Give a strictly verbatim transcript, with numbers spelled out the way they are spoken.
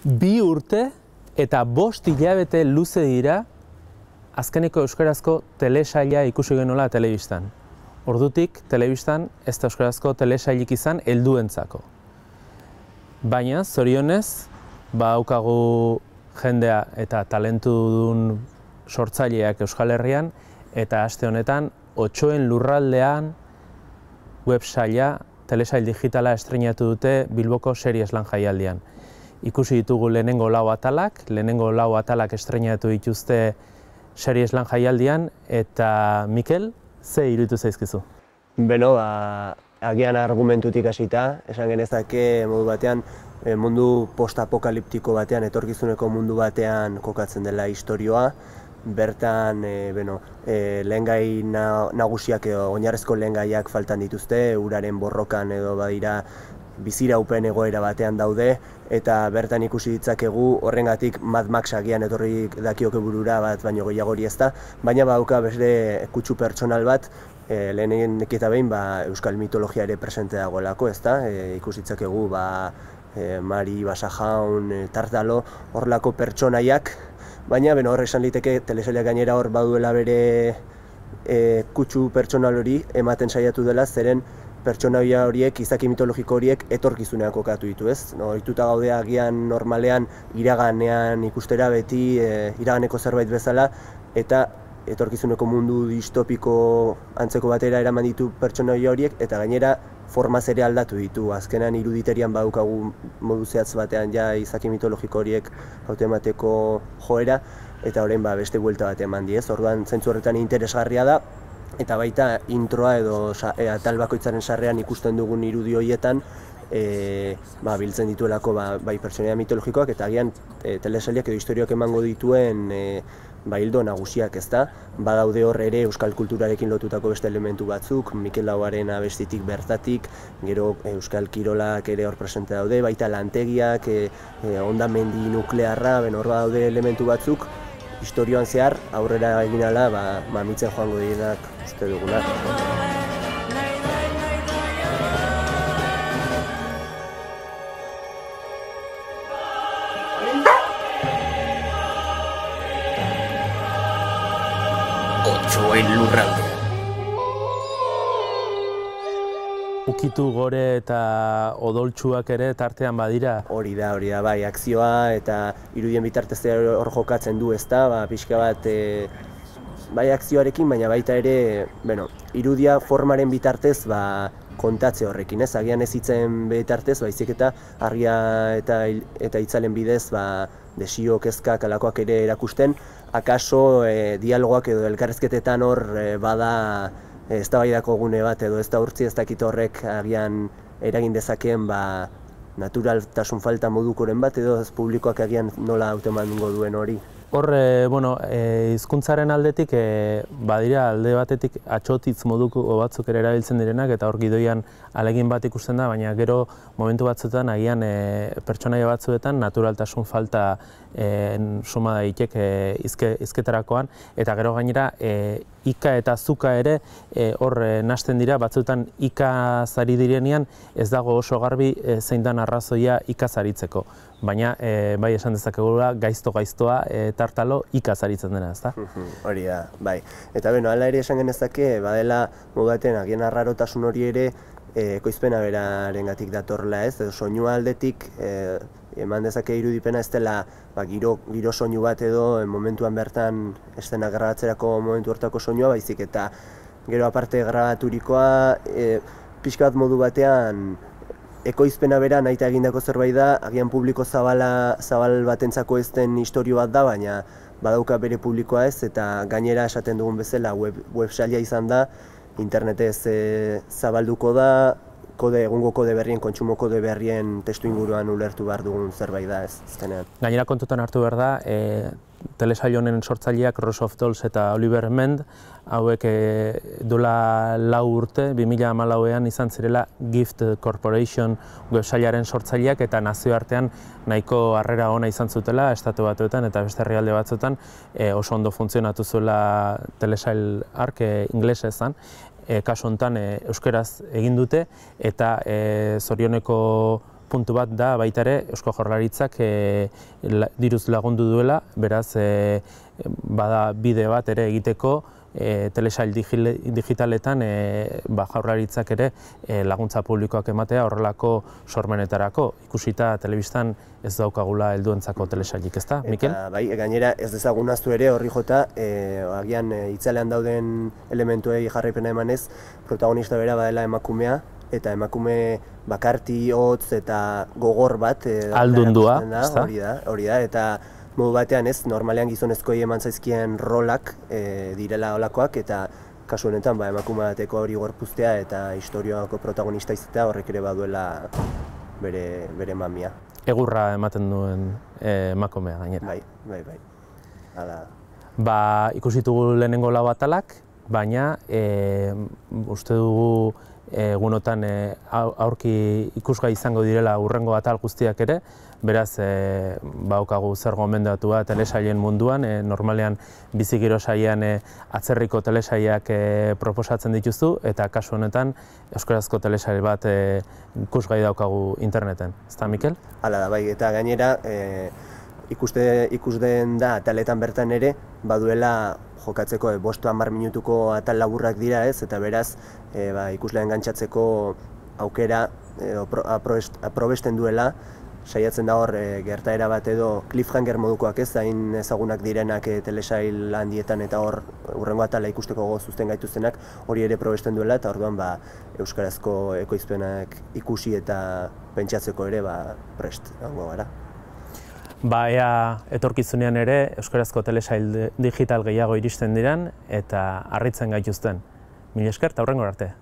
Bi urte eta bost hilabete luze dira azkeneko euskarazko telesaila ikusi genuela telebistan. Ordutik, telebistan ez da euskarazko telesailik izan helduentzako. Baina, zorionez, badaukagu jendea eta talentudun sortzaileak Euskal Herrian, eta aste honetan, Otsoen lurraldean websaila, telesail digitala estreinatu dute Bilboko Series Lan Jaialdian. Ikusi ditugu lehenengo lau atalak, lehenengo lau atalak estreinatu dituzte Series Lan Jaialdian, eta Mikel, ze iruditu zaizkizu? Beno, ba, agian argumentutik hasita, esan genezake modu batean, mundu postapokaliptiko batean, etorkizuneko mundu batean kokatzen dela istorioa, bertan e, beno, e, lehengai na, nagusiak edo oinarrezko lehengaiak faltan dituzte, uraren borrokan edo badira biziraupen egoera batean daude, eta bertan ikusi ditzakegu horrengatik Mad Max agian etorri dakioke burura bat baino gehiagori ez da, baina badauka beste kutsu pertsonal bat, e, lehenik eta behin ba, euskal mitologia ere presente dagoelako, ez da, e, ikusi ditzakegu ba, e, Mari, Basajaun, e, Tartalo, horrelako pertsonaiak, baina beno, hor esan liteke telesailak gainera hor baduela bere e, kutsu pertsonal hori ematen saiatu dela, zeren pertsonaia horiek, izaki mitologiko horiek etorkizunean kokatu ditu, ez? No, ohituta gaude agian normalean iraganean ikustera beti e, iraganeko zerbait bezala, eta etorkizuneko mundu distopiko antzeko batera eraman ditu pertsonaia horiek, eta gainera formaz ere aldatu ditu. Azkenan iruditerian badaukagu modu zehatz batean ja izaki mitologiko horiek haute emateko joera, eta orain ba, beste buelta bat eman diez. Orduan zentzu horretan interesgarria da, eta baita introa edo e, atal bakoitzaren sarrean ikusten dugun irudi horietan e, ba, biltzen dituelako ba, bai pertsonaia mitologikoak eta agian e, telesailak edo historioak emango dituen e, ba, hildo nagusiak, ez da. Badaude hor ere euskal kulturarekin lotutako beste elementu batzuk, Mikel Lauaren abestitik bertatik, gero euskal kirolak ere hor presente daude, baita lantegiak, e, e, hondamendi nuklearra, ben hor badaude elementu batzuk, historioan zehar aurrera egin ala ba, mamitzen joango direnak uste dugunak. Otsoen lurralde. Ukitu gore eta odoltsuak ere tartean badira. Hori da, hori da, bai, akzioa eta irudien bitartez hor jokatzen du, ez da, ba, pixka bat, e, bai akzioarekin, baina baita ere, bueno, irudia formaren bitartez, ba, kontatze horrekin, ez, agian ez hitzen bitartez, baizik eta argia eta, eta hitzalen bidez, ba, desio, kezkak, alakoak ere erakusten, akaso e, dialogoak edo elkarrezketetan hor e, bada, ez da baidako gune bat edo ez da urtzi ez dakit horrek agian eragin dezakeen ba, naturaltasun falta modukoren bat edo ez publikoak agian nola hautemango duen hori. Hor, e, bueno, e, hizkuntzaren aldetik, e, badira alde batetik atxotitz moduko batzuk ere erabiltzen direnak eta hor gidoian alegin bat ikusten da, baina gero momentu batzuetan agian e, pertsonaia batzuetan naturaltasun falta e, suma daitek e, izke, izketarakoan, eta gero gainera e, ika eta zuka ere e, hor e, nasten dira, batzuetan ika zari direnean ez dago oso garbi e, zein dan arrazoia ika zaritzeko. Baina e, bai esan dezakegula gaizto-gaiztoa e, Tartalo ikazaritzen dena, ezta? Hori da, bai. Eta beno, hala ere esan genezake, badela modu batean agian arrarotasun hori ere e, ekoizpena berarengatik datorrela, ez? Edo soinua aldetik e, eman dezake irudipena ez dela ba, giro, giro soinu bat edo e, momentuan bertan estena grabatzerako momentu hortako soinua, baizik eta gero aparte grabaturikoa e, pixka bat modu batean ekoizpena bera nahita egindako zerbait da, agian publiko zabala, zabal batentzako ez den istorio bat da, baina badauka bere publikoa ez, eta gainera esaten dugun bezala web, websaila izan da, internetez e, zabalduko da, kode, egungo kode berrien, kontsumo kode berrien testu inguruan ulertu behar dugun zerbait da ez, azkenean. Gainera kontutan hartu behar da, e, telesail honen sortzaileak Rose of Dolls eta Oliver Mend, hauek e, duela lau urte, bi mila hamalauean izan zirela Gift Corporation websailaren sortzaileak eta nazioartean nahiko harrera ona izan zutela estatu batuetan eta beste herrialde batzuetan e, oso ondo funtzionatu zuela telesail hark e, inglesezan. E, kasu honetan e, euskaraz egin dute eta e, zorioneko puntu bat da baita ere Eusko Jaurlaritzak e, la, diruz lagundu duela, beraz e, bada bide bat ere egiteko e, telesail digitaletan e, ba, Jaurlaritzak ere e, laguntza publikoak ematea horrelako sormenetarako. Ikusita telebistan ez daukagula helduentzako telesailik, ezta, Mikel? Eta bai, gainera ez dezagun ahaztu ere horri jota, e, agian e, itzalean dauden elementuei jarraipena emanez, protagonista bera badela emakumea, eta emakume bakarti, hotz eta gogor bat e, aldundua, ezta? Hori da, hori da, eta modu batean ez, normalean gizonezkoei eman zaizkien rolak e, direla olakoak, eta kasu honetan ba, emakume bateko hori gorpuztea eta historiako protagonista izatea horrek ere baduela bere, bere mamia. Egurra ematen duen e, emakumea gainera. Bai, bai, bai. Hala. Ba, ikusitugu lehenengo lau atalak, baina e, uste dugu egunotan e, aurki ikusgai izango direla hurrengo atal guztiak ere, beraz e, baukagu zer gomendatua telesailen munduan, e, normalean bizigiro sailean e, atzerriko telesailak e, proposatzen dituzu, eta kasu honetan euskarazko telesail bat e, ikusgai daukagu interneten, ezta Mikel? Hala da, bai, eta gainera e, ikuste, ikusden da ataletan bertan ere, baduela jokatzeko e, bost hamar minutuko atal laburrak dira ez, eta beraz e, ba, ikuslean gantzatzeko aukera e, aprobesten duela, saiatzen da hor e, gertaera bat edo cliffhanger modukoak ez, hain ezagunak direnak e, telesail handietan eta hor hurrengo atala ikusteko gozuzten gaituztenak hori ere probesten duela, eta orduan ba, euskarazko ekoizpenak ikusi eta pentsatzeko ere ba, prest egongo gara. Ba, ea etorkizunean ere euskarazko telesail digital gehiago iristen diren eta harritzen gaituzten. Mila esker eta hurrengora arte.